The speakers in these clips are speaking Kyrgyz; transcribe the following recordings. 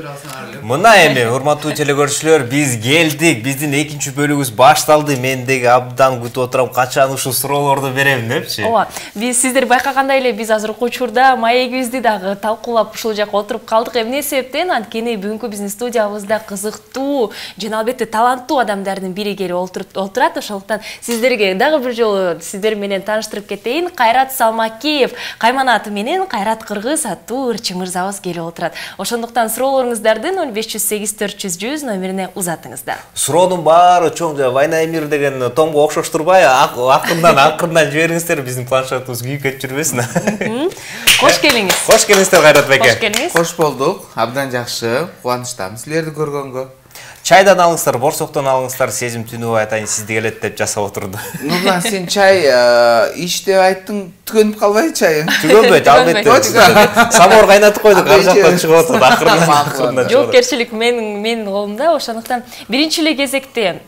Мына эми урматтуу телекөрүүчүлөр, биз келдик. Биздин экинчи бөлүгүбүз башталды. Мен деги абдан күтүп отурам, качан ушул суроолорду берем депчи. Ооба, биз сиздер байкагандай эле биз азыркы учурда маегибизди дагы талкуулап ушул жака отуруп калдык. Эмне себептен? Анткени бүгүнкү биздин студиябызда кызыктуу жана албетте таланттуу адамдардын бири келип отурат. Ошондуктан сиздерге дагы бир жолу сиздер менен тааныштырып кетейин. Кайрат Салмакиев, Каймана аты менен Кайрат Кыргыз аттуу ырчы мырзабыз келип отурат. Ошондуктан суроолоруңуздарды 0508 400 номерине узатыңыздар. Суроонун баары чоң Вайна Эмир деген томго окшош турбай, акырындан жибериңиздер, биздин планшетибиз күйүп кетип жүрбөсүн. Кош келиңиз. Кош келиңиздер Кайрат байке. Кош келиңиз. Кош болдук. Абдан жакшы. Кубанычтамын силерди көргөнгө. Чайдан алыңыздар, борсоктон алыңыздар, сезим түнүбай атайын сизди келет деп жасап отурду. Нурлан, сен чай ич деп айттың, түгөнүп калбайбы чайың? Түгөнбөйт, албетте. Самор кайнатып койдук, ар жактан чыгып атат, акырындан. Жоопкерчилик менин колумда, ошондуктан биринчи эле кезекте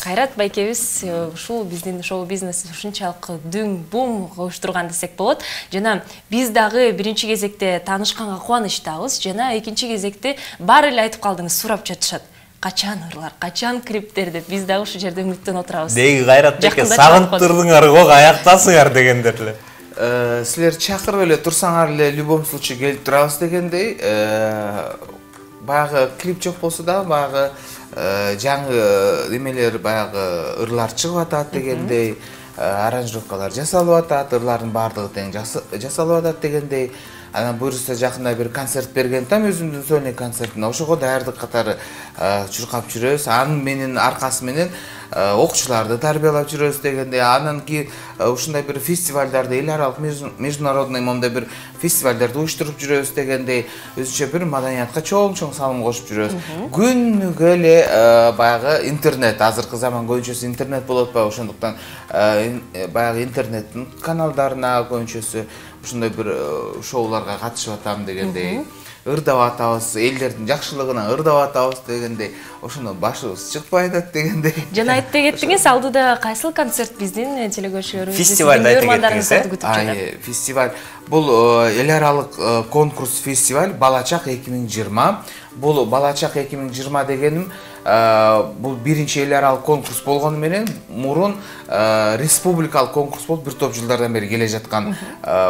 Кайрат байкебиз ушул биздин шоу бизнес ушунчалык дүң бум коштурган десек болот. Жана биз дагы биринчи кезекте таанышканга кубанычтабыз, жана экинчи кезекте баары эле айтып калдыңыз, сурап жатышат. Качан ырлар, качан клиптер деп биз дагы ушул жерде үмүттөнүп отурабыз. Деги Кайрат байке, сагынып турдуңар го, аяктасыңар дегендер эле. Силер чакырып эле турсаңар эле любой случай келип турабыз дегендей, баягы клип жок болсо да, баягы жаңы немелер, баягы ырлар чыгып атат дегендей, аранжировкалар жасалып атат, ырлардын баардыгы тең жасалып атат дегендей. Анан буюрса жакында бир концерт берген там өзүмдүн сольный концертине, ошого даярдык катары чуркап жүрөбүз. Анын менен аркасы менен окуучуларды тарбиялап жүрөбүз дегенде, анан кийин ушундай бир фестивалдарды, эл аралык международный момундай бир фестивалдарды уюштуруп жүрөбүз дегендей, өзүнчө бир маданиятка чоң салым кошуп жүрөбүз. Күнүгө эле баягы интернет, азыркы заман көбүнчөсү интернет болуп атпайбы, ошондуктан баягы интернеттин каналдарына көбүнчөсү ушундай бир шоуларга катышып атам дегендей, ырдап атабыз, элдердин жакшылыгына ырдап атабыз дегендей, ошондон башыбыз чыкпай атат дегендей. Жана айтты кеттиңиз, алдыда кайсыл концерт биздин телекөрүүчүлөрүбүз, фестивалда айтты кеттиңиз, фестиваль бул эл аралык конкурс фестиваль Балачак 2020. Бул Балачак 2020 дегеним бул биринчи эл аралык конкурс болгону менен мурун республикалык конкурс болуп бир топ жылдардан бери келе жаткан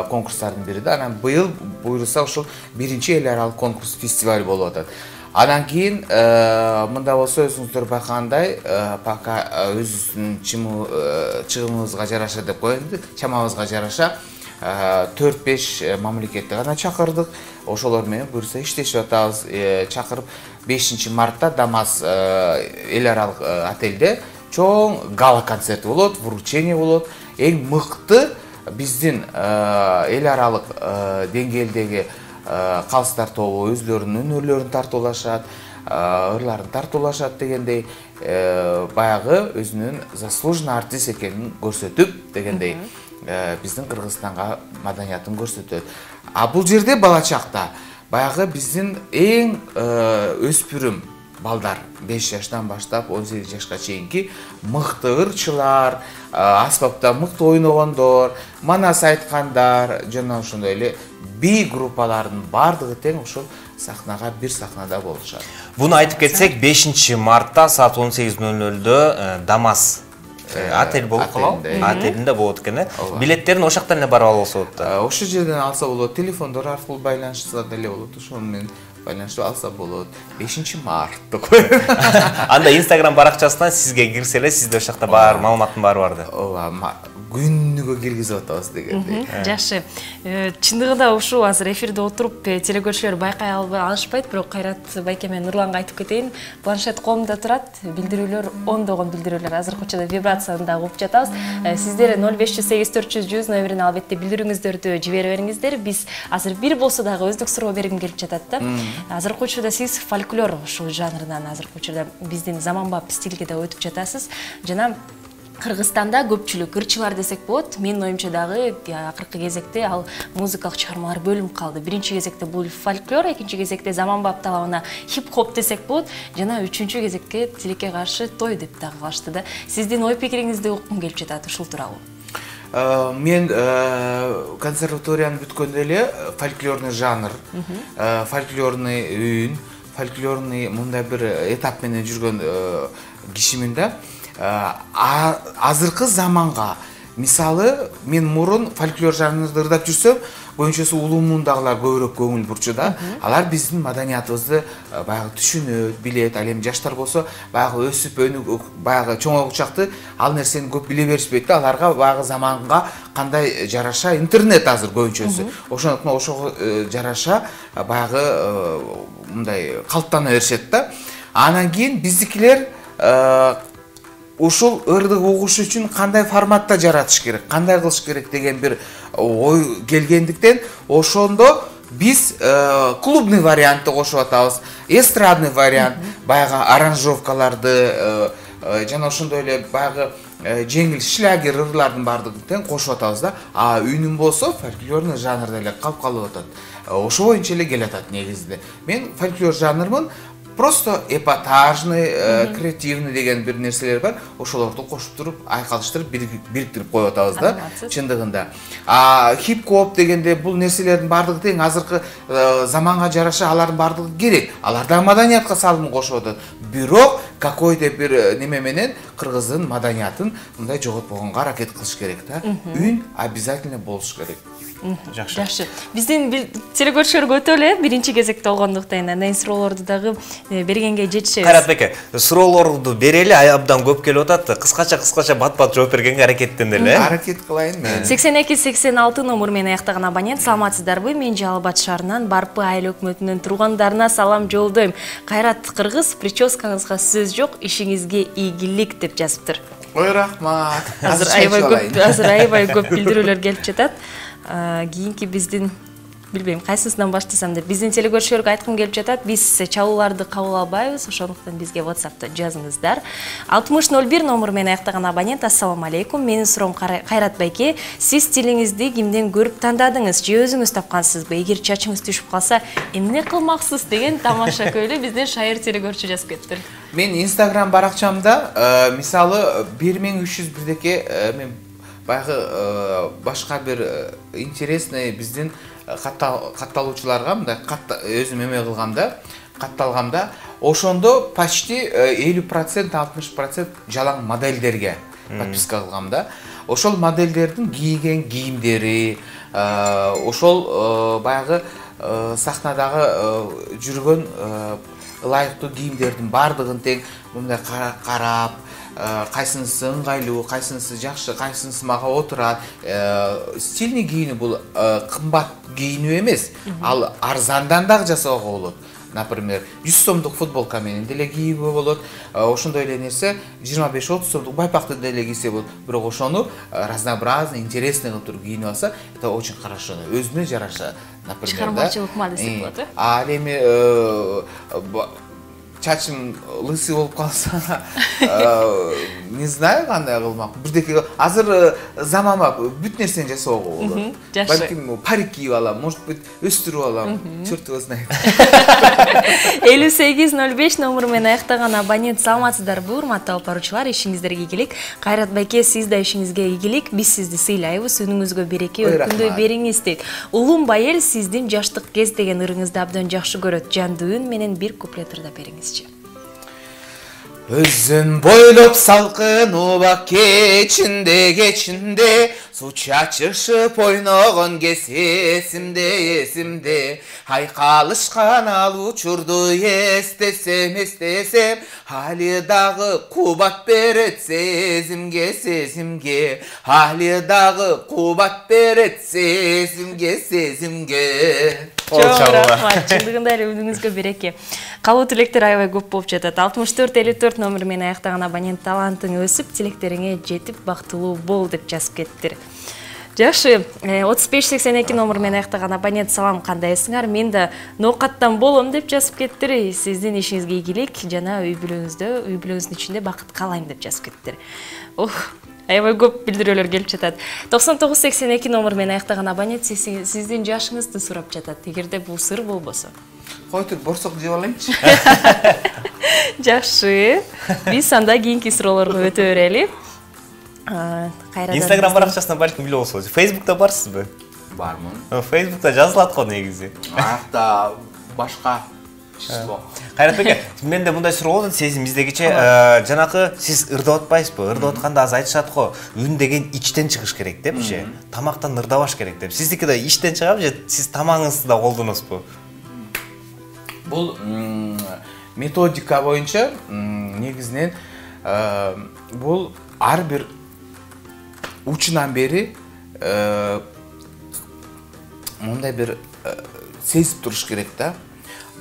конкурстардын бири да. Анан быйыл буюрса ушул биринчи эл аралык конкурс фестиваль болуп атат. Анан кийин мында болсо өзүңүздөр байкагандай, пока өзүбүздүн чыгымыбызга жараша деп коелу, чамабызга жараша 4-5 мамлекетти гана чакырдык. Ошолор менен буюрса иштешип атабыз. Чакырып 5 мартта Дамас эл аралык отелде чоң гала концерти болот, вручение болот. Эң мыкты биздин эл аралык деңгээлдеги калыстар тобу өзлөрүнүн өнөрлөрүн тартуулашат, ырларын тартуулашат дегендей, баягы өзүнүн заслуженный артист экенин көрсөтүп дегендей, биздин Кыргызстанга маданиятын көрсөтөт. А бул жерде Балачакта баягы биздин эң өспүрүм балдар 5 жаштан баштап 18 жашка чейинки мыкты ырчылар, аспапта мыкты ойногондор, манас айткандар, жана ошондой эле би группалардын баардыгы тең ошол сахнага бир сахнада болушат. Буну айтып кетсек, 5 мартта саат 18:00 Дамас отель болуп калат. Отелинде болот экен. Билеттерин ошол жактан эле барып алса болот да. Ошол жерден алса болот. Телефондор аркылуу байланышса деле болот. Ошол менен байланышып алса болот. 5 март деп коет. Анда Instagram баракчасынан сизге кирсе эле, сизде ошол жакта бар маалыматтын баары бар да. Ооба, күнүгө киргизип атабыз дегендей. Жакшы. Чындыгында ушул азыр эфирде отуруп телекөрүүчүлөр байкай алышпайт, бирок Кайрат байке менен Нурланга айтып кетейин. Планшет колумда турат, билдирүүлөр ондогон билдирүүлөр азыркы учурда вибрацияны да угуп жатабыз. Сиздер 0508 400 номерине албетте билдирүүңүздөрдү жибере бериңиздер. Биз азыр бир болсо дагы өздүк суроо бергим келип жатат да. Азыркы учурда сиз фольклор ушул жанрынан азыркы учурда биздин заманбап стилге да өтүп жатасыз. Жана Кыргызстанда көпчүлүк ырчылар десек болот. Менин оюмча дагы акыркы кезекте ал музыкалык чыгармалар бөлүнүп калды. Биринчи кезекте бул фольклор, экинчи кезекте заманбап талабына хип-хоп десек болот, жана үчүнчү кезекте тилекке каршы той деп дагы калышты да. Сиздин ой пикириңизди уккум келип жатат ушул тууралуу. Мен консерваторияны бүткөндө эле фольклорный жанр, фольклорный үн, фольклорный мындай бир этап менен жүргөн кишимин да. Азыркы заманга мисалы мен мурун фольклор жанрында ырдап жүрсөм, көбүнчөсү улуу муундагылар көбүрөөк көңүл бурчу да. Алар биздин маданиятыбызды баягы түшүнөт, билет. Ал эми жаштар болсо баягы өсүп өнүгүп, баягы чоңойгу чакты ал нерсени көп биле беришпейт да. Аларга баягы заманга кандай жараша интернет азыр көбүнчөсү. Ошондуктан ошого жараша баягы мындай калыптана беришет да. Анан кийин биздикилер ушул ырдык угуш үчүн кандай форматта жаратыш керек, кандай кылыш керек деген бир ой келгендиктен, ошондо биз клубный вариантты кошуп атабыз, эстрадный вариант, баягы аранжировкаларды жана ошондой эле баягы жеңил шлягер ырлардын баардыгын тең кошуп атабыз да. Үнүм болсо фольклорный жанрда эле калып атат. Ошо боюнча эле келатат негизинде. Мен фольклор жанрмын. Просто эпатажный, креативный деген бир нерселер бар. Ошолорду кошуп туруп, айкалыштырып, бириктирип коюп атабыз да, чындыгында. Хип-хоп дегенде бул нерселердин баардыгы тең азыркы заманга жараша алардын баардыгы керек. Алар да маданиятка салым кошуп атат. Бирок какой-то бир неме менен кыргыздын маданиятын мындай жоготпогонго аракет кылыш керек да. Үн обязательно болуш керек. Жакшы. Биздин телекөрүүчүлөр өтө эле биринчи кезекте болгондуктан андан суроолорду дагы бергенге жетишебиз. Кайрат беке, суроолорду берели, абдан көп келип атат. Кыскача бат-бат жооп бергенге аракеттенели. Аракет кылайын мен. 8286 номер менен аяктаган абонент, саламатсыздарбы? Мен Жалал Абад шаарынан Барпы айыл өкмөтүнүн тургандарына салам жолдойм. Кайрат кыргыз, прическаңызга сөз жок, ишиңизге ийгилик деп жазыптыр. Ой, рахмат. Азыр аябай көп билдирүүлөр келип жатат. Кийинки биздин билбейм кайсысынан баштасам деп биздин телекөрүүчүлөргө айткым келип жатат. Биз чалууларды кабыл албайбыз, ошондуктан бизге WhatsApp'та жазыңыздар. 6001 номер менен аяктаган абонент, ассаламу алейкум. Менин суроом Кайрат байке, сиз стилиңизди кимден көрүп тандадыңыз же өзүңүз тапкансызбы? Эгер чачыңыз түшүп калса, эмне кылмаксыз деген тамаша көйлө биздин шайыр телекөрүүчү жазып кетти. Мен Instagram баракчамда мисалы 1301деке мен баягы башка бир интересный биздин катталуучуларга мындай өзүм эме кылгамда, катталгамда, ошондо почти 50% 60% жалаң модельдерге подписка кылгамда. Ошол модельдердин кийген кийимдери, ошол баягы сахнадагы жүргөн ылайыктуу кийимдердин баардыгын тең мындай карап, кайсынысы ыңгайлуу, кайсынысы жакшы, кайсынысы мага отурат. Стильный кийинүү бул кымбат кийинүү эмес, ал арзандан дагы жасоого болот. Например, 100 сомдук футболка менен деле кийүүгө болот. Ошондой эле нерсе 25-30 сомдук байпакты деле кийсе болот. Бирок ошону разнообразный, интересный кылып туруп кийинип алса, это очень хорошо. Өзүнө жараша, например, чыгармачылык ма десек болот, э? Ал эми чачым лысый болуп калса, не знаю кандай кылмак. Бирдеке азыр заманбап бүт нерсени жасоого болот. Балким парик кийип алам, может быть, өстүрүп алам, чёрт его знает. 5805 номер менен аяктаган абонент, саламатсыздарбы, урматтуу алып баруучулар, ишиңиздерге ийгилик. Кайрат байке, сиз да ишиңизге ийгилик, биз сизди сыйлайбыз, үнүңүзгө береке, өркүндөй бериңиз дейт. Улум Байел сиздин жаштык кез деген ырыңызды абдан жакшы көрөт. Жандуу үн менен бир куплет ырдап бериңизчи. Өзүн бойлоп салкын убак кечинде су чачышып ойногон кез эсимде айкалышкан ал учурду эстесем али дагы кубат берет сезимге али дагы кубат берет сезимге Чоң рахмат, чындыгында эле үнүңүзгө береке. Калуу тилектер аябай көп болуп жатат. 6454 номер менен аяктаган абонент, талантың өсүп, тилектериңе жетип, бактылуу бол деп жазып кеттир. Жакшы, 3582 номер менен аяктаган абонент, салам, кандайсыңар? Мен да ноокаттан болом деп жазып кеттир. Сиздин ишиңизге ийгилик жана үй бүлөңүздүн ичинде бакыт каалайм деп жазып кеттир. Аябай көп билдирүүлөр келип жатат. 9982 номер менен аяктаган абонент сиздин жашыңызды сурап жатат. Эгерде бул сыр болбосо. Кой тур, борсок жеп алайынчы. Жакшы. Биз анда кийинки суроолорго өтө берели. Instagram баракчасына балким билип болсоңуз. Facebook'та барсызбы? Бармын. Facebook'та жазылат го негизи. Ата башка число. Кайрат беке, менде мындай суроо болду, сезим издегиче, жанакы сиз ырдап атпайсызбы? Ырдап атканда аз айтышат го, үн деген ичтен чыгыш керек депчи. Тамактан ырдабаш керек деп. Сиздики да ичтен чыгабы же сиз тамагыңызды да колдоносузбу? Бул методика боюнча негизинен бул ар бир учунан бери мындай бир сезип туруш керек да.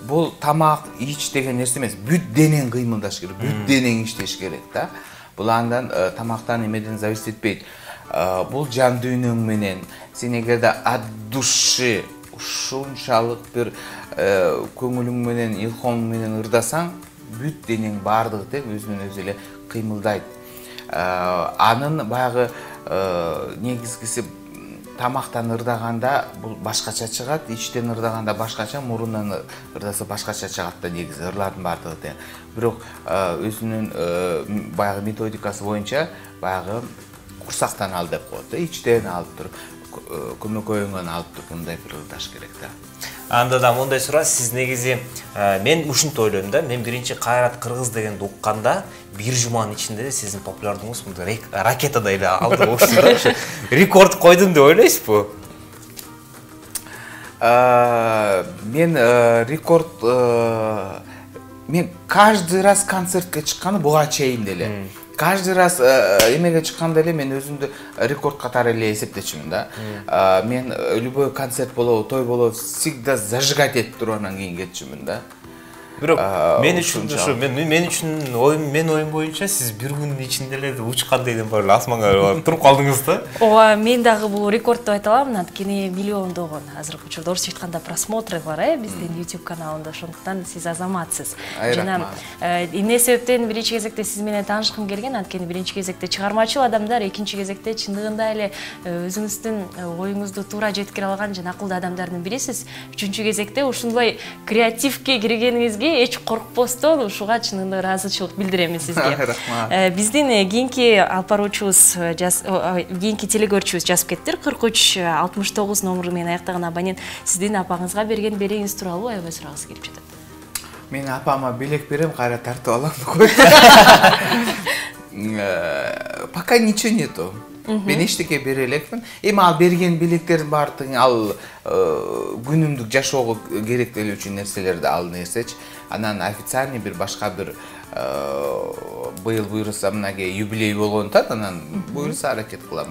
Бул тамак, ич деген нерсе эмес, бүт денең кыймылдаш керек, бүт денең иштеш керек да. Бул андан тамактан эмеден зависит этпейт. Бул жан дүйнөң менен сен эгерде от души ушунчалык бир көңүлүң менен, илхом менен ырдасаң, бүт денең баардыгы тең өзүнөн өзү эле кыймылдайт. Анын баягы негизгиси тамактан ырдаганда бул башкача чыгат, ичтен ырдаганда башкача, мурундан ырдаса башкача чыгат да негизи ырлардын баардыгы тең. Бирок өзүнүн баягы методикасы боюнча баягы курсактан ал деп коет да, ичтен алып туруп, көмөкөйүңөн алып туруп мындай бир ырдаш керек да. Анда да мындай суроо, сиз негизи мен ушинтип ойлойм да, мен биринчи Кайрат Кыргыз дегенди укканда бир жуманын ичинде эле сиздин популярдыгыңыз мындай ракетадай эле алды болчу. Рекорд койдум деп ойлойсузбу? Мен рекорд мен каждый раз концертке чыкканда буга чейин деле каждый раз эмеге чыкканда эле мен өзүмдү рекорд катары эле эсептечүмүн да. Мен любой концерт болобу, той болобу, всегда зажигать этип туруп анан кийин кетчүмүн да. Бирок мен үчүн ушу мен үчүн оюм боюнча сиз бир күндүн ичинде эле учкандай эле бар асманга туруп калдыңыз да. Ооба, мен дагы бул рекорд деп айта алам, анткени миллиондогон азыркы учурда орусча айтканда просмотры бар биздин YouTube каналында, ошондуктан сиз азаматсыз. Жана эмне себептен биринчи кезекте сиз менен таанышкым келген, анткени биринчи кезекте чыгармачыл адамдар, экинчи кезекте чындыгында эле өзүңүздүн оюңузду туура жеткире алган жана акылдуу адамдардын бирисиз. Үчүнчү кезекте ушундай креативге киргениңизге эч коркпостон ушуга чынында ыраазычылык билдирем сизге. Биздин кийинки алып баруучубуз, кийинки телекөрүүчүбүз жазып кетти. 4369 номеру менен аяктаган абонент сиздин апаңызга берген белегиңиз тууралуу аябай сурагысы келип жатат. Мен апама белек берем, кайра тартып алам деп койду. Пока ничего нету. Мен эчтеке бере элекмин. Эми ал берген белектердин баардыгы ал күнүмдүк жашоого керектелүү үчүн нерселерди ал нерсечи. Анан официальный бир башка бир быйыл буйруса мынага юбилей болгон тат, анан буйруса аракет кылам.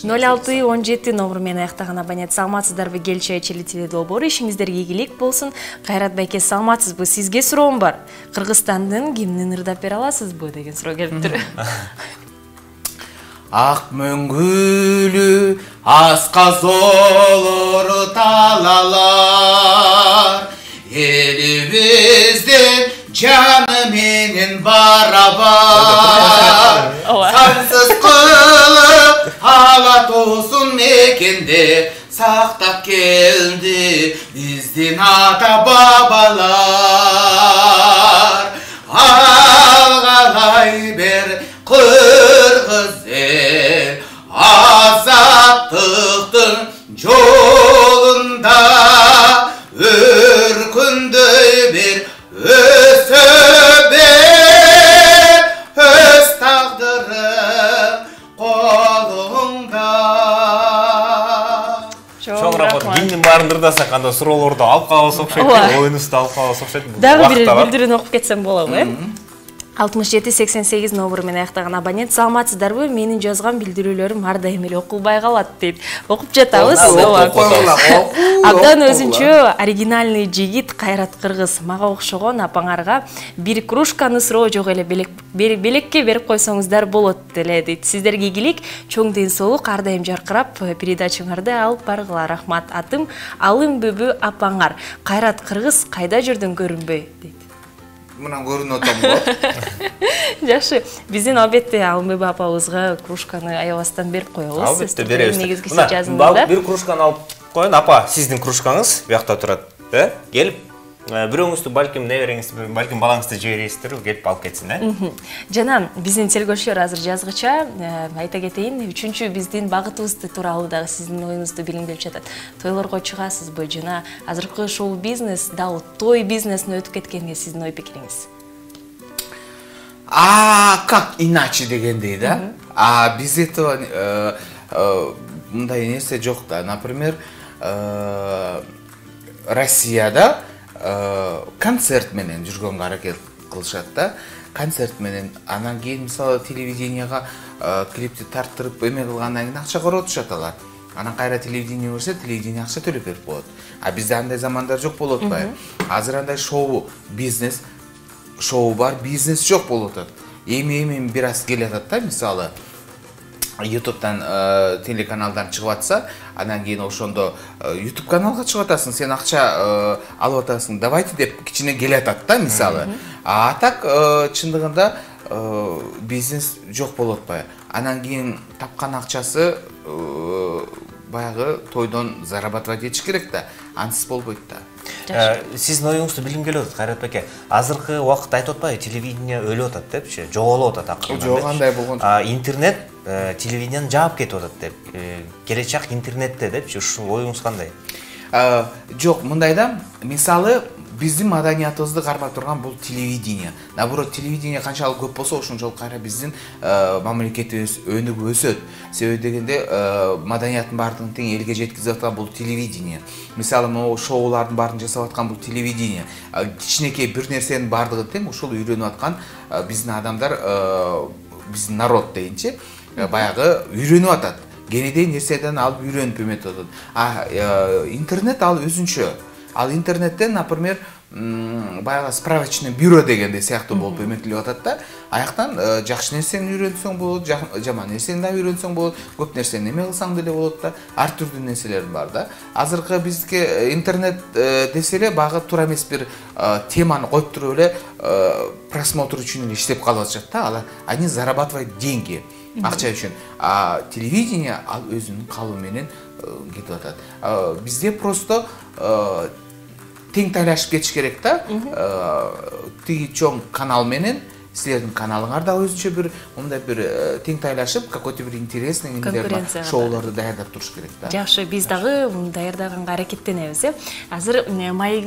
0617 номеру менен аяктаган абонент, саламатсыздарбы Келчи Айчели теле долбоору, ишиңиздерге ийгилик болсун. Кайрат байке, саламатсызбы? Сизге суроом бар. Кыргызстандын гимнин ырдап бере аласызбы деген суроо келиптир. Ак мөңгүлү асказ олор талалар, элибиздин жаны менен барабар. Сансыз кылып ала тоосун мекенде сактап келди биздин ата бабалар. Алгалай бер кыргыз эл азаттыктын жолунда өркүндөй бер өсө бер өз тагдырың колуңда. Чоң рахмат. Гимнин баарын ырдасак анда суроолорду алып калабыз окшойт, оюнубузду алып калабыз окшойт. Дагы бир билдирүүнү окуп кетсем болобу, 6788 номеру менен аяктаган абонент, саламатсыздарбы? Менин жазган билдирүүлөрүм ар дайым эле окулбай калат дейт. Окуп жатабыз. Абдан өзүнчө оригинальный жигит Кайрат Кыргыз. Мага окшогон апаңарга бир кружканы суроо жок эле, белекке берип койсоңуздар болот эле дейт. Сиздерге ийгилик, чоң ден соолук, ар дайым жаркырап передачаңарды алып баргыла. Рахмат. Атым Алым Бүбү апаңар. Кайрат Кыргыз кайда жүрдүң көрүнбөй дейт. Мынан көрүнүп атам го. Жакшы, биздин албетте Алымбүбү апабызга кружканы аябастан берип коебуз. Албетте беребиз. Негизгиси жазыңызда. Бир кружканы алып коюн, апа, сиздин кружкаңыз буякта турат, келип бирөөңүздү балким небереңизди, балким балаңызды жибересиздер, келип алып кетсин, Жана биздин телекөрүүчүлөр азыр жазгыча айта кетейин, 3-чү биздин багытыбыз тууралуу дагы сиздин оюңузду билгим келип жатат. Тойлорго чыгасызбы жана азыркы шоу бизнес дагы той бизнесине өтүп кеткенге сиздин ой пикириңиз? Как иначе дегендей, да? Без этого мындай нерсе жок да. Например, Россияда концерт менен жүргөнгө аракет кылышат да. Концерт менен анан кийин мисалы телевиденияга клипти тарттырып эме кылгандан кийин акча коротушат алар. Анан кайра телевидение көрсө, телевидение акча төлөп берип коет. Бизде андай замандар жок болуп атпайбы? Азыр андай шоу бизнес, шоу бар, бизнес жок болуп атат. Эми бир аз келатат да, мисалы YouTube'дан телеканалдан чыгып атса, анан кийин ошондо YouTube каналга чыгып атасың, сен акча алып атасың, давайте деп кичине келатат да, мисалы. Так чындыгында бизнес жок болуп атпайбы? Анан кийин тапкан акчасы баягы тойдон зарабатывать этиш керек да, ансыз болбойт да. Сиздин оюңузду билгим келип атат, Кайрат беке. Азыркы убакытта айтып атпайбы, телевидение өлүп атат депчи, жоголуп атат акырында. Жок, андай болгон. Интернет телевидениени жаап кетип атат деп. Келечек интернетте депчи, ушул оюңуз кандай? Жок, мындай да, мисалы биздин маданиятыбызды кармап турган бул телевидение. Наоборот, телевидение канчалык көп болсо, ошончолук кайра биздин мамлекетибиз өнүгүп өсөт. Себеби дегенде маданияттын баардыгын тең элге жеткизип аткан бул телевидение. Мисалы, могу шоулардын баарын жасап аткан бул телевидение. Кичинекей бир нерсенин баардыгын тең ушул үйрөнүп аткан биздин адамдар, биздин народ дейинчи, баягы үйрөнүп атат. Кенедей нерседен алып үйрөнүп эметип атат. Интернет ал өзүнчө. Ал интернеттен, например, баягы справочный бюро дегенде сыяктуу болуп эметилип атат да. Аяктан жакшы нерсени үйрөнсөң болот, жаман нерсени да үйрөнсөң болот, көп нерсени эме кылсаң деле болот да. Ар түрдүү нерселер бар да. Азыркы бизге интернет десе эле багы туура эмес бир теманы коюп туруп эле просмотр үчүн эле иштеп калып атышат да. Алар они зарабатывают деньги, акча үчүн. Телевидение ал өзүнүн калыбы менен кетип атат. Бизде просто тең тайлашып кетиш керек да. Тиги чоң канал менен силердин каналыңар да өзүнчө бир мындай бир тең тайлашып, какой-то бир интересный эмелер бар, шоуларды даярдап туруш керек да. Жакшы, биз дагы муну даярдаганга аракеттенебиз, Азыр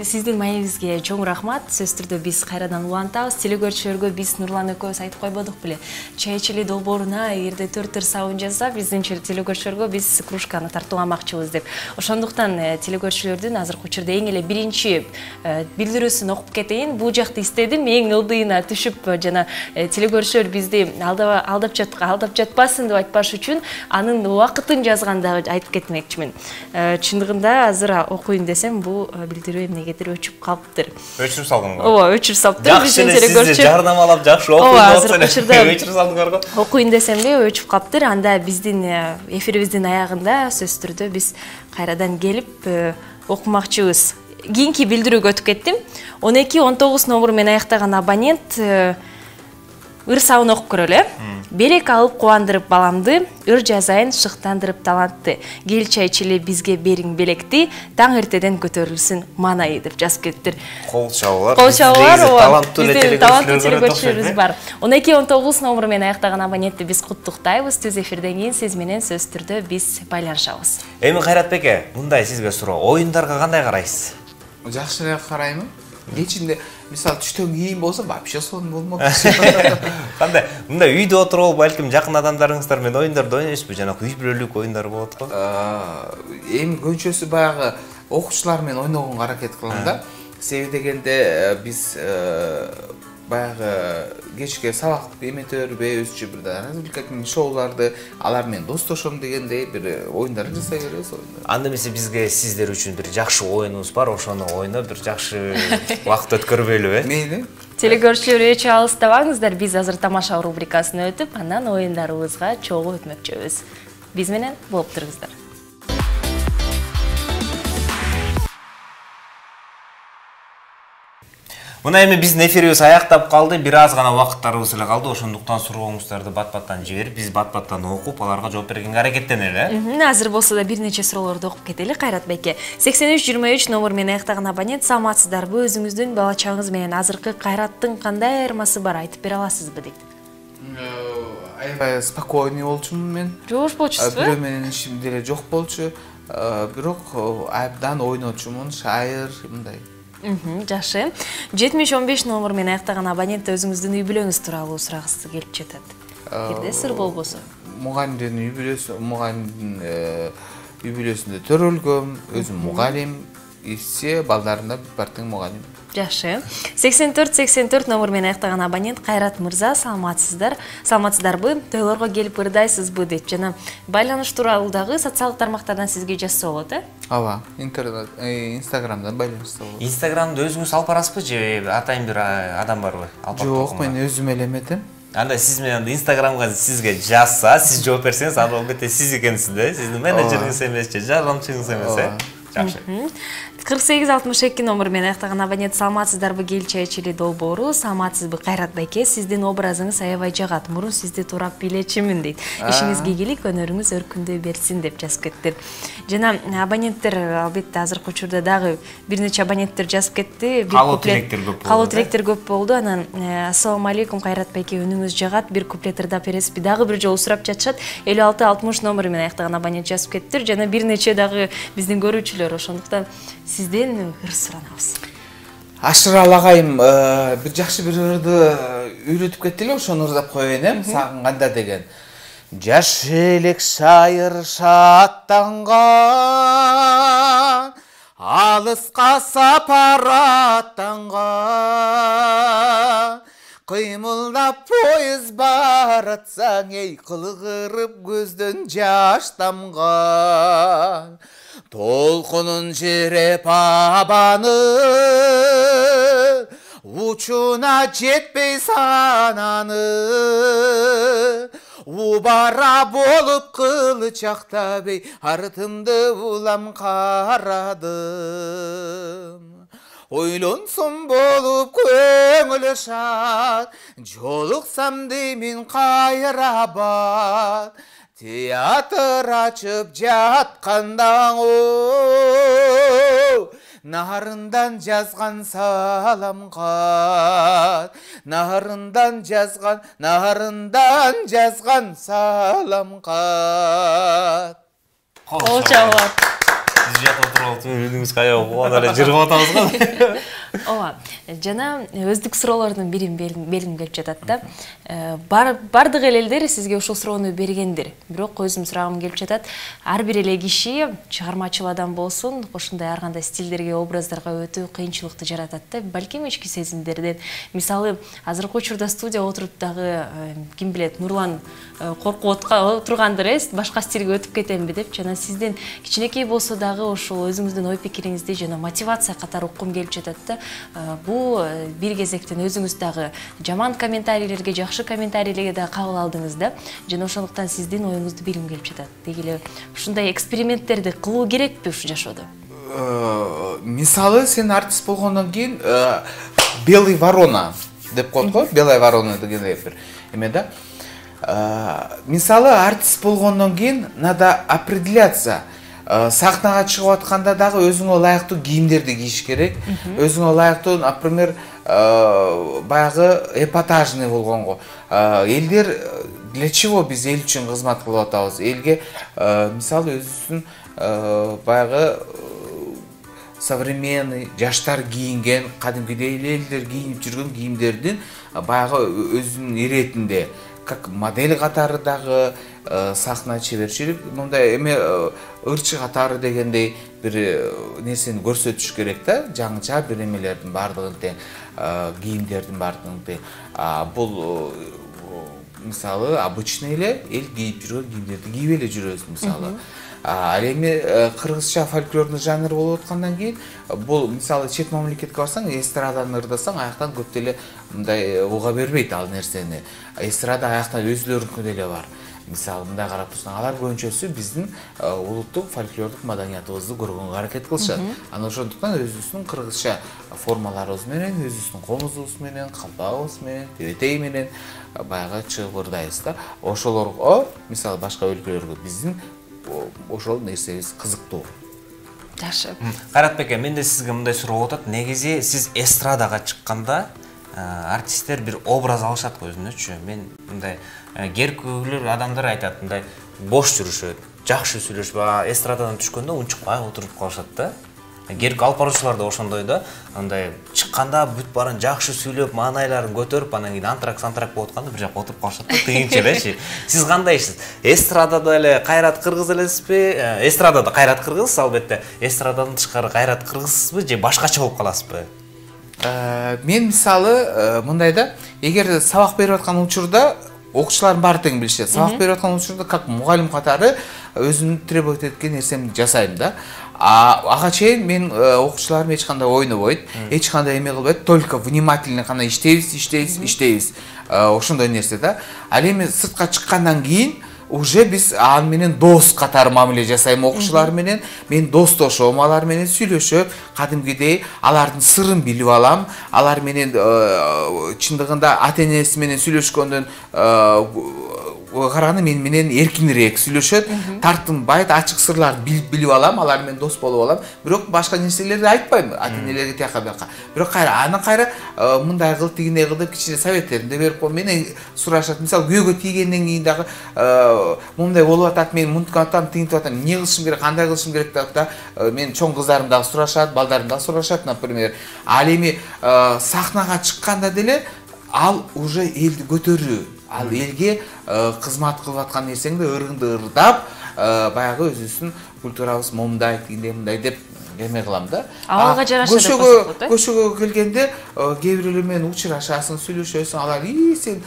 сиздин маегибизге чоң рахмат. Сөзсүз түрдө биз кайрадан улантабыз. Телекөрүүчүлөргө биз Нурлан экөөбүз айтып койбодук беле? Чай ичели долбооруна эгерде 4 сабын жазса, биздин телекөрүүчүлөргө биз кружканы тартууламакчыбыз деп. Ошондуктан телекөрүүчүлөрдүн азыркы учурда эң эле биринчи билдирүүсүн окуп кетейин. Бул жакты истедим, эң ылдыйына түшүп жана телекөрүүчүлөр бизди алдап жатпасын деп айтпаш үчүн анын убакытын жазганда айтып кетмекчимин. Чындыгында азыр окуйн десем, бул билдирүү эмнегедир өчүп калыптыр. Өчүрүп салдыңбы? Ооба, өчүрүп салыптыр. Биздин телекөрүүчүлөр жарнамалап жакшы окуйн деп өчүрүп салдыңарбы? Окуйн десем эле өчүп калыптыр. Анда биздин эфирибиздин аягында сөзсүз түрдө биз кайрадан келип окумакчыбыз. Кийинки билдирүүгө өтүп кеттим. 12-19 номер менен аяктаган абонент ыр сабын окуп көрөлү. Белек алып кубандырып баламды, ыр жазайын шыктандырып талантты. Кел чай ичели бизге бериң белекти, таң эртеден көтөрүлсүн манайы деп жазып кетиптир. Кол чабуулар. Таланттуу телекөрүүчүлөрүбүз бар. 12-19 номер менен аяктаган абонентти биз куттуктайбыз. Түз эфирден кийин сиз менен сөзсүз түрдө биз байланышабыз. Эми Кайрат беке, мындай сизге суроо. Оюндарга кандай карайсыз? Жакшыраак караймын. Кечинде мисалы түштөн кийин болсо вообще сон болмок. Кандай? Мындай үйдө отуруп, балким жакын адамдарыңыздар менен оюндарды ойнойсузбу? Жана үй бүлөлүк оюндар болот го? Эми көбүнчөсү баягы окуучулар менен ойногонго аракет кылам да. Себеби дегенде биз баягы кечке сабак эметөрбү, өзүчө бир развлекательный шоуларды алар менен достошом дегендей бир оюндар жасай беребиз. Анда эмесе бизге сиздер үчүн бир жакшы оюнубуз бар, ошону ойноп бир жакшы убакыт өткөрбөйлүбү? Мейли. Телекөрүүчүлөр эч алыстабаңыздар, биз азыр тамаша рубрикасына өтүп, андан оюндарыбызга чогуу өтмөкчүбүз. Биз менен болуп туруңуздар. Мына эми биздин эфирибиз аяктап калды. Бир аз гана убакыттарыбыз эле калды. Ошондуктан сурооңуздарды бат-баттан жиберип, биз бат-баттан окуп, аларга жооп бергенге аракеттенели. Азыр болсо да бир нече суроолорду окуп кетели. Кайрат байке. 8323 номер менен аяктаган абонент, саламатсыздарбы? Өзүңүздүн бала чагыңыз менен азыркы Кайраттын кандай айырмасы бар, айтып бере аласызбы дейт. Аябай спокойный болчумун мен. Жоош болчусузбу? Бирөө менен ишим деле жок болчу. Бирок абдан ойночумун, шайыр мындай. Жакшы. 7015 номер менен аяктаган абонент өзүңүздүн үй бүлөңүз тууралуу сурагысы келип жатат. Бирде сыр болбосо. Мугалимдин үй бүлөсү, мугалимдин үй бүлөсүндө төрөлгөм, өзүм мугалим, ишсе балдарында бир мугалим. Жакшы. 8484 номер менен аяктаган абонент Кайрат мырза, саламатсыздар. Саламатсыздарбы? Тойлорго келип ырдайсызбы дейт. Жана байланыш тууралуу дагы социалдык тармактардан сизге жазса болот, Ооба, интернет, Инстаграмдан байланышса болот. Инстаграмда өзүңүз алып барасызбы же атайын бир адам барбы? Жок, мен өзүм эле эметем. Анда сиз менен Инстаграмга сизге жазса, сиз жооп берсеңиз, анда албетте сиз экенсиз да, сиздин менеджериңиз эмес же, жардамчыңыз эмес, Жакшы. 4862 номер менен аяктаган абонент, саламатсыздарбы? Келчечили долбоору, саламатсызбы Кайрат байке? Сиздин образыңыз аябай жагат. Мурун сизди туурап билечимин дейт. Ишиңизге ийгилик, өнөрүңүз өркүндөй берсин деп жазып кетти. Жана абоненттер албетте азыркы учурда дагы бир нече абоненттер жазып кетти. Калуу тилектер көп болду. Калуу тилектер көп болду. Анан ассалому алейкум Кайрат байке, үнүңүз жагат. Бир куплет ырдап бересизби? Дагы бир жолу сурап жатышат. 5660 номер менен аяктаган абонент жазып кетти. Жана бир нече дагы биздин көрүүчүлөр, ошондуктан сизден ыр суранабыз. Ашырал агайым бир жакшы бир ырды үйрөтүп кетти эле, ошону ырдап коеюн, сагынганда деген. Жаш элек шайыр шаттанган, алыска сапар аттанган, кыймылдап поезд баратсаң, эй кылгырып көздөн жаш тамган. Толкунун жереп абаны, учуна жетпей сананы. Убара болуп кылычактап, эй артымды улам карадым. Ойлонсом болуп көңүл шат, жолуксам деймин кайрабат. Театр ачып жатканда нарындан жазган салам кат, нарындан жазган салам кат. Кол чабат. Сиз жакта отуруп үнүңүз кая окуган эле жыргап атабыз го. Ооба. Жана өздүк суроолордун бирин белгим келип жатат да. Бардык элдер сизге ушул суроону бергендир. Бирок өзүм сурагым келип жатат. Ар бир эле киши чыгармачыл адам болсун, ошондой ар кандай стилдерге, образдарга өтүү кыйынчылыкты жаратат да. Балким ички сезимдерден. Мисалы, азыркы учурда студия отуруп дагы ким билет, Нурлан коркуп отургандыр, башка стилге өтүп кетемби деп. Жана сизден кичинекей болсо дагы ошол өзүңүздүн ой пикириңизди жана мотивация катары уккум келип жатат да. Бул бир кезектен өзүңүз дагы жаман комментарийлерге, жакшы комментарийлерге да кабыл алдыңыз да. Жана ошондуктан сиздин оюңузду билгим келип жатат. Деги эле ушундай эксперименттерди кылуу керекпи ушу жашоодо? Мисалы, сен артист болгондон кийин белый ворона деп коет го, белая ворона дегендей бир эме да. Мисалы, артист болгондон кийин надо определяться. Сахнага чыгып атканда дагы өзүңө ылайыктуу кийимдерди кийиш керек. Өзүңө ылайыктуу, например, баягы эпатажный болгонго. Элдер для чего биз эл үчүн кызмат кылып атабыз? Элге мисалы өзүнүн баягы современный жаштар кийинген, кадимкидей элдер кийинип жүргөн кийимдердин баягы өзүнүн иретинде, как модель катары дагы сахна чеберчилик, мындай эме ырчы катары дегендей бир нерсени көрсөтүш керек да, жаңыча бир эмелердин бардыгын тең, кийимдердин бардыгын тең. Бул мисалы обычный эле эл кийип жүргөн кийимдерди кийип эле жүрөбүз мисалы. Ал эми кыргызча фольклорный жанр болуп аткандан кийин бул мисалы чет мамлекетке барсаң, эстраданы ырдасаң, аяктан көп деле мындай уга бербейт ал нерсени. Эстрада аяктан өзүлөрүнкү деле бар. мисалы мындай карап турсаң, алар көбүнчөсү биздин улуттук фольклордук маданиятыбызды көргөнгө аракет кылышат. Анан ошондуктан өзүбүздүн кыргызча формаларыбыз менен, өзүбүздүн комузубуз менен, калпагыбыз менен, тебетей менен баягы чыгырдайбыз да. Ошолорго мисалы башка өлкөлөргө биздин ошол нерсебиз кызыктуу. Жакшы. Кайратбек, менде сизге мындай суроо атат. Негизи сиз эстрадага чыкканда артисттер бир образ алышат го өзүнөчү. Мен мындай керкүлөр адамдар айтат, мындай бош жүрүшөт, жакшы сүйлөшүп, эстрададан түшкөндө унчукпай отуруп калышат да. Керк алып баруучулар да ошондой да. Андай чыкканда бүт баарын жакшы сүйлөп, маанайларын көтөрүп, анан кийин антрак болуп атканда бир жакка отуруп калышат да, тыгынча элечи. Сиз кандайсыз? Эстрадада эле Кайрат кыргыз элесизби? Эстрадада Кайрат кыргыз, албетте. Эстрададан тышкары Кайрат кыргызсызбы же башкача болуп каласызбы? Мен мисалы мындай да, эгер сабак берип аткан учурда окуучулардын баары тең билишет. Сабак берип аткан учурда как мугалим катары өзүмдүн требовать эткен нерсемди жасайм да. Ага чейин мен окуучуларым эч кандай ойнобойт, эч кандай эме кылбайт, только внимательно гана иштейбиз. Ошондой нерсе да. Ал эми сыртка чыккандан кийин уже биз аны менен дос катары мамиле жасайм окуучулар менен. Мен достошом, алар менен сүйлөшөп, кадимгидей алардын сырын билип алам. Алар менен чындыгында ата-энеси менен сүйлөшкөндөн караганда мен менен эркинирээк сүйлөшөт, тартынбайт, ачык сырларды билип алам, алар менен дос болуп алам. Бирок башка нерселерди айтпайм ата-энелерге тияка бияка. Бирок анан кайра мындай кыл, тигиндей кыл деп кичине советтеримди берип коем. Менен сурашат. Мисалы күйөөгө тийгенден кийин дагы мындай болуп атат, мен мынтип атам, тигинтип атам, эмне кылышым керек, кандай кылышым керек деп да. Мен чоң кыздарым дагы сурашат, балдарым дагы сурашат, например. Ал эми сахнага чыкканда деле ал уже элди көтөрүү, ал элге кызмат кылып аткан нерсеңди ырыңды ырдап, баягы өзүбүздүн культурабыз момундай, тигиндей мындай деп эме кылам да. Ага жараша деп көрсөтөт. Көчөгө келгенде кээ бирөөлөр менен учурашасың, сүйлөшөсүң, алар сен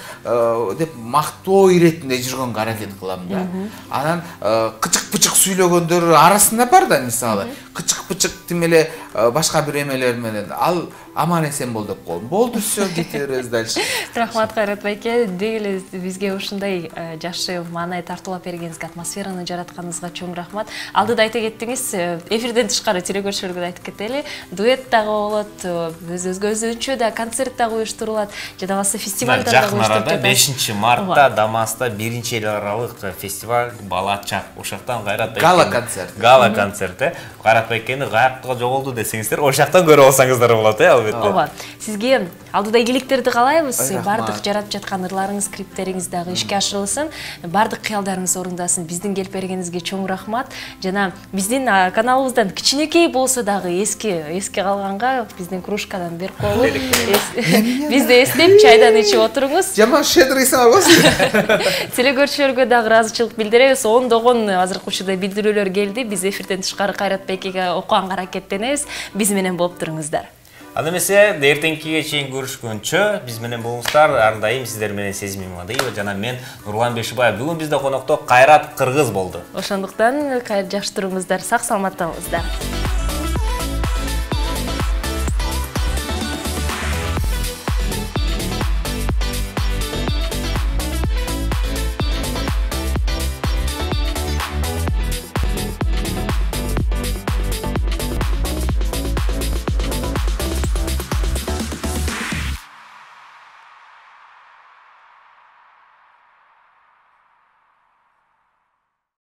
деп мактоо иретинде жүргөнгө аракет кылам да. Анан кычык-пычык сүйлөгөндөр арасында бар да, мисалы. Кычык-пычык тим эле башка бир эмелер менен ал аман эсен бол деп коем. Болду, всё, кете беребиз дальше. Рахмат Кайрат байке, деги бизге ушундай жакшы маанай тартуулап бергениңизге, атмосфераны жаратканыңызга чоң рахмат. Алдыда айта кеттиңиз, эфирден тышкары телекөрүүчүлөргө айтып кетели, дуэт дагы болот, өзгөчө да концерт дагы уюштурулат, жада болбосо фестивалдар дагы уюштурулат. Жакын арада 5-мартта Дамаста 1-эл аралык фестиваль Бала Чак. Ошоктон Кайрат байке гала концерт. Кайрат байкени каякка жоголду десеңиздер, ошоктон көрүп алсаңыздар болот, албетте. Ооба. Сизге алдыда ийгиликтерди каалайбыз. Бардык жаратып жаткан ырларыңыз, клиптериңиз дагы ишке ашырылсын. Бардык кыялдарыңыз орундасын. Биздин келип бергениңизге чоң рахмат. Жана биздин каналыбыздан кичинекей болсо дагы эске калганга биздин кружкадан берип коелу. Бизди эстеп чайдан ичип отуруңуз. Жаман щедрыйсың албасызбы? Телекөрүүчүлөргө дагы ыраазычылык билдиребиз. Ондогон азыркы учурда билдирүүлөр келди. Биз эфирден тышкары Кайрат байкеге окуганга аракеттенебиз. Биз менен болуп туруңуздар. Ал эмесе эртеңкиге чейин көрүшкөнчө биз менен болуңуздар. Ар дайым сиздер менен Сезим Имамадиева жана мен Нурлан Бешибаев. Бүгүн бизде конокто Кайрат кыргыз болду. Ошондуктан жакшы туруңуздар, сак саламатта болуңуздар.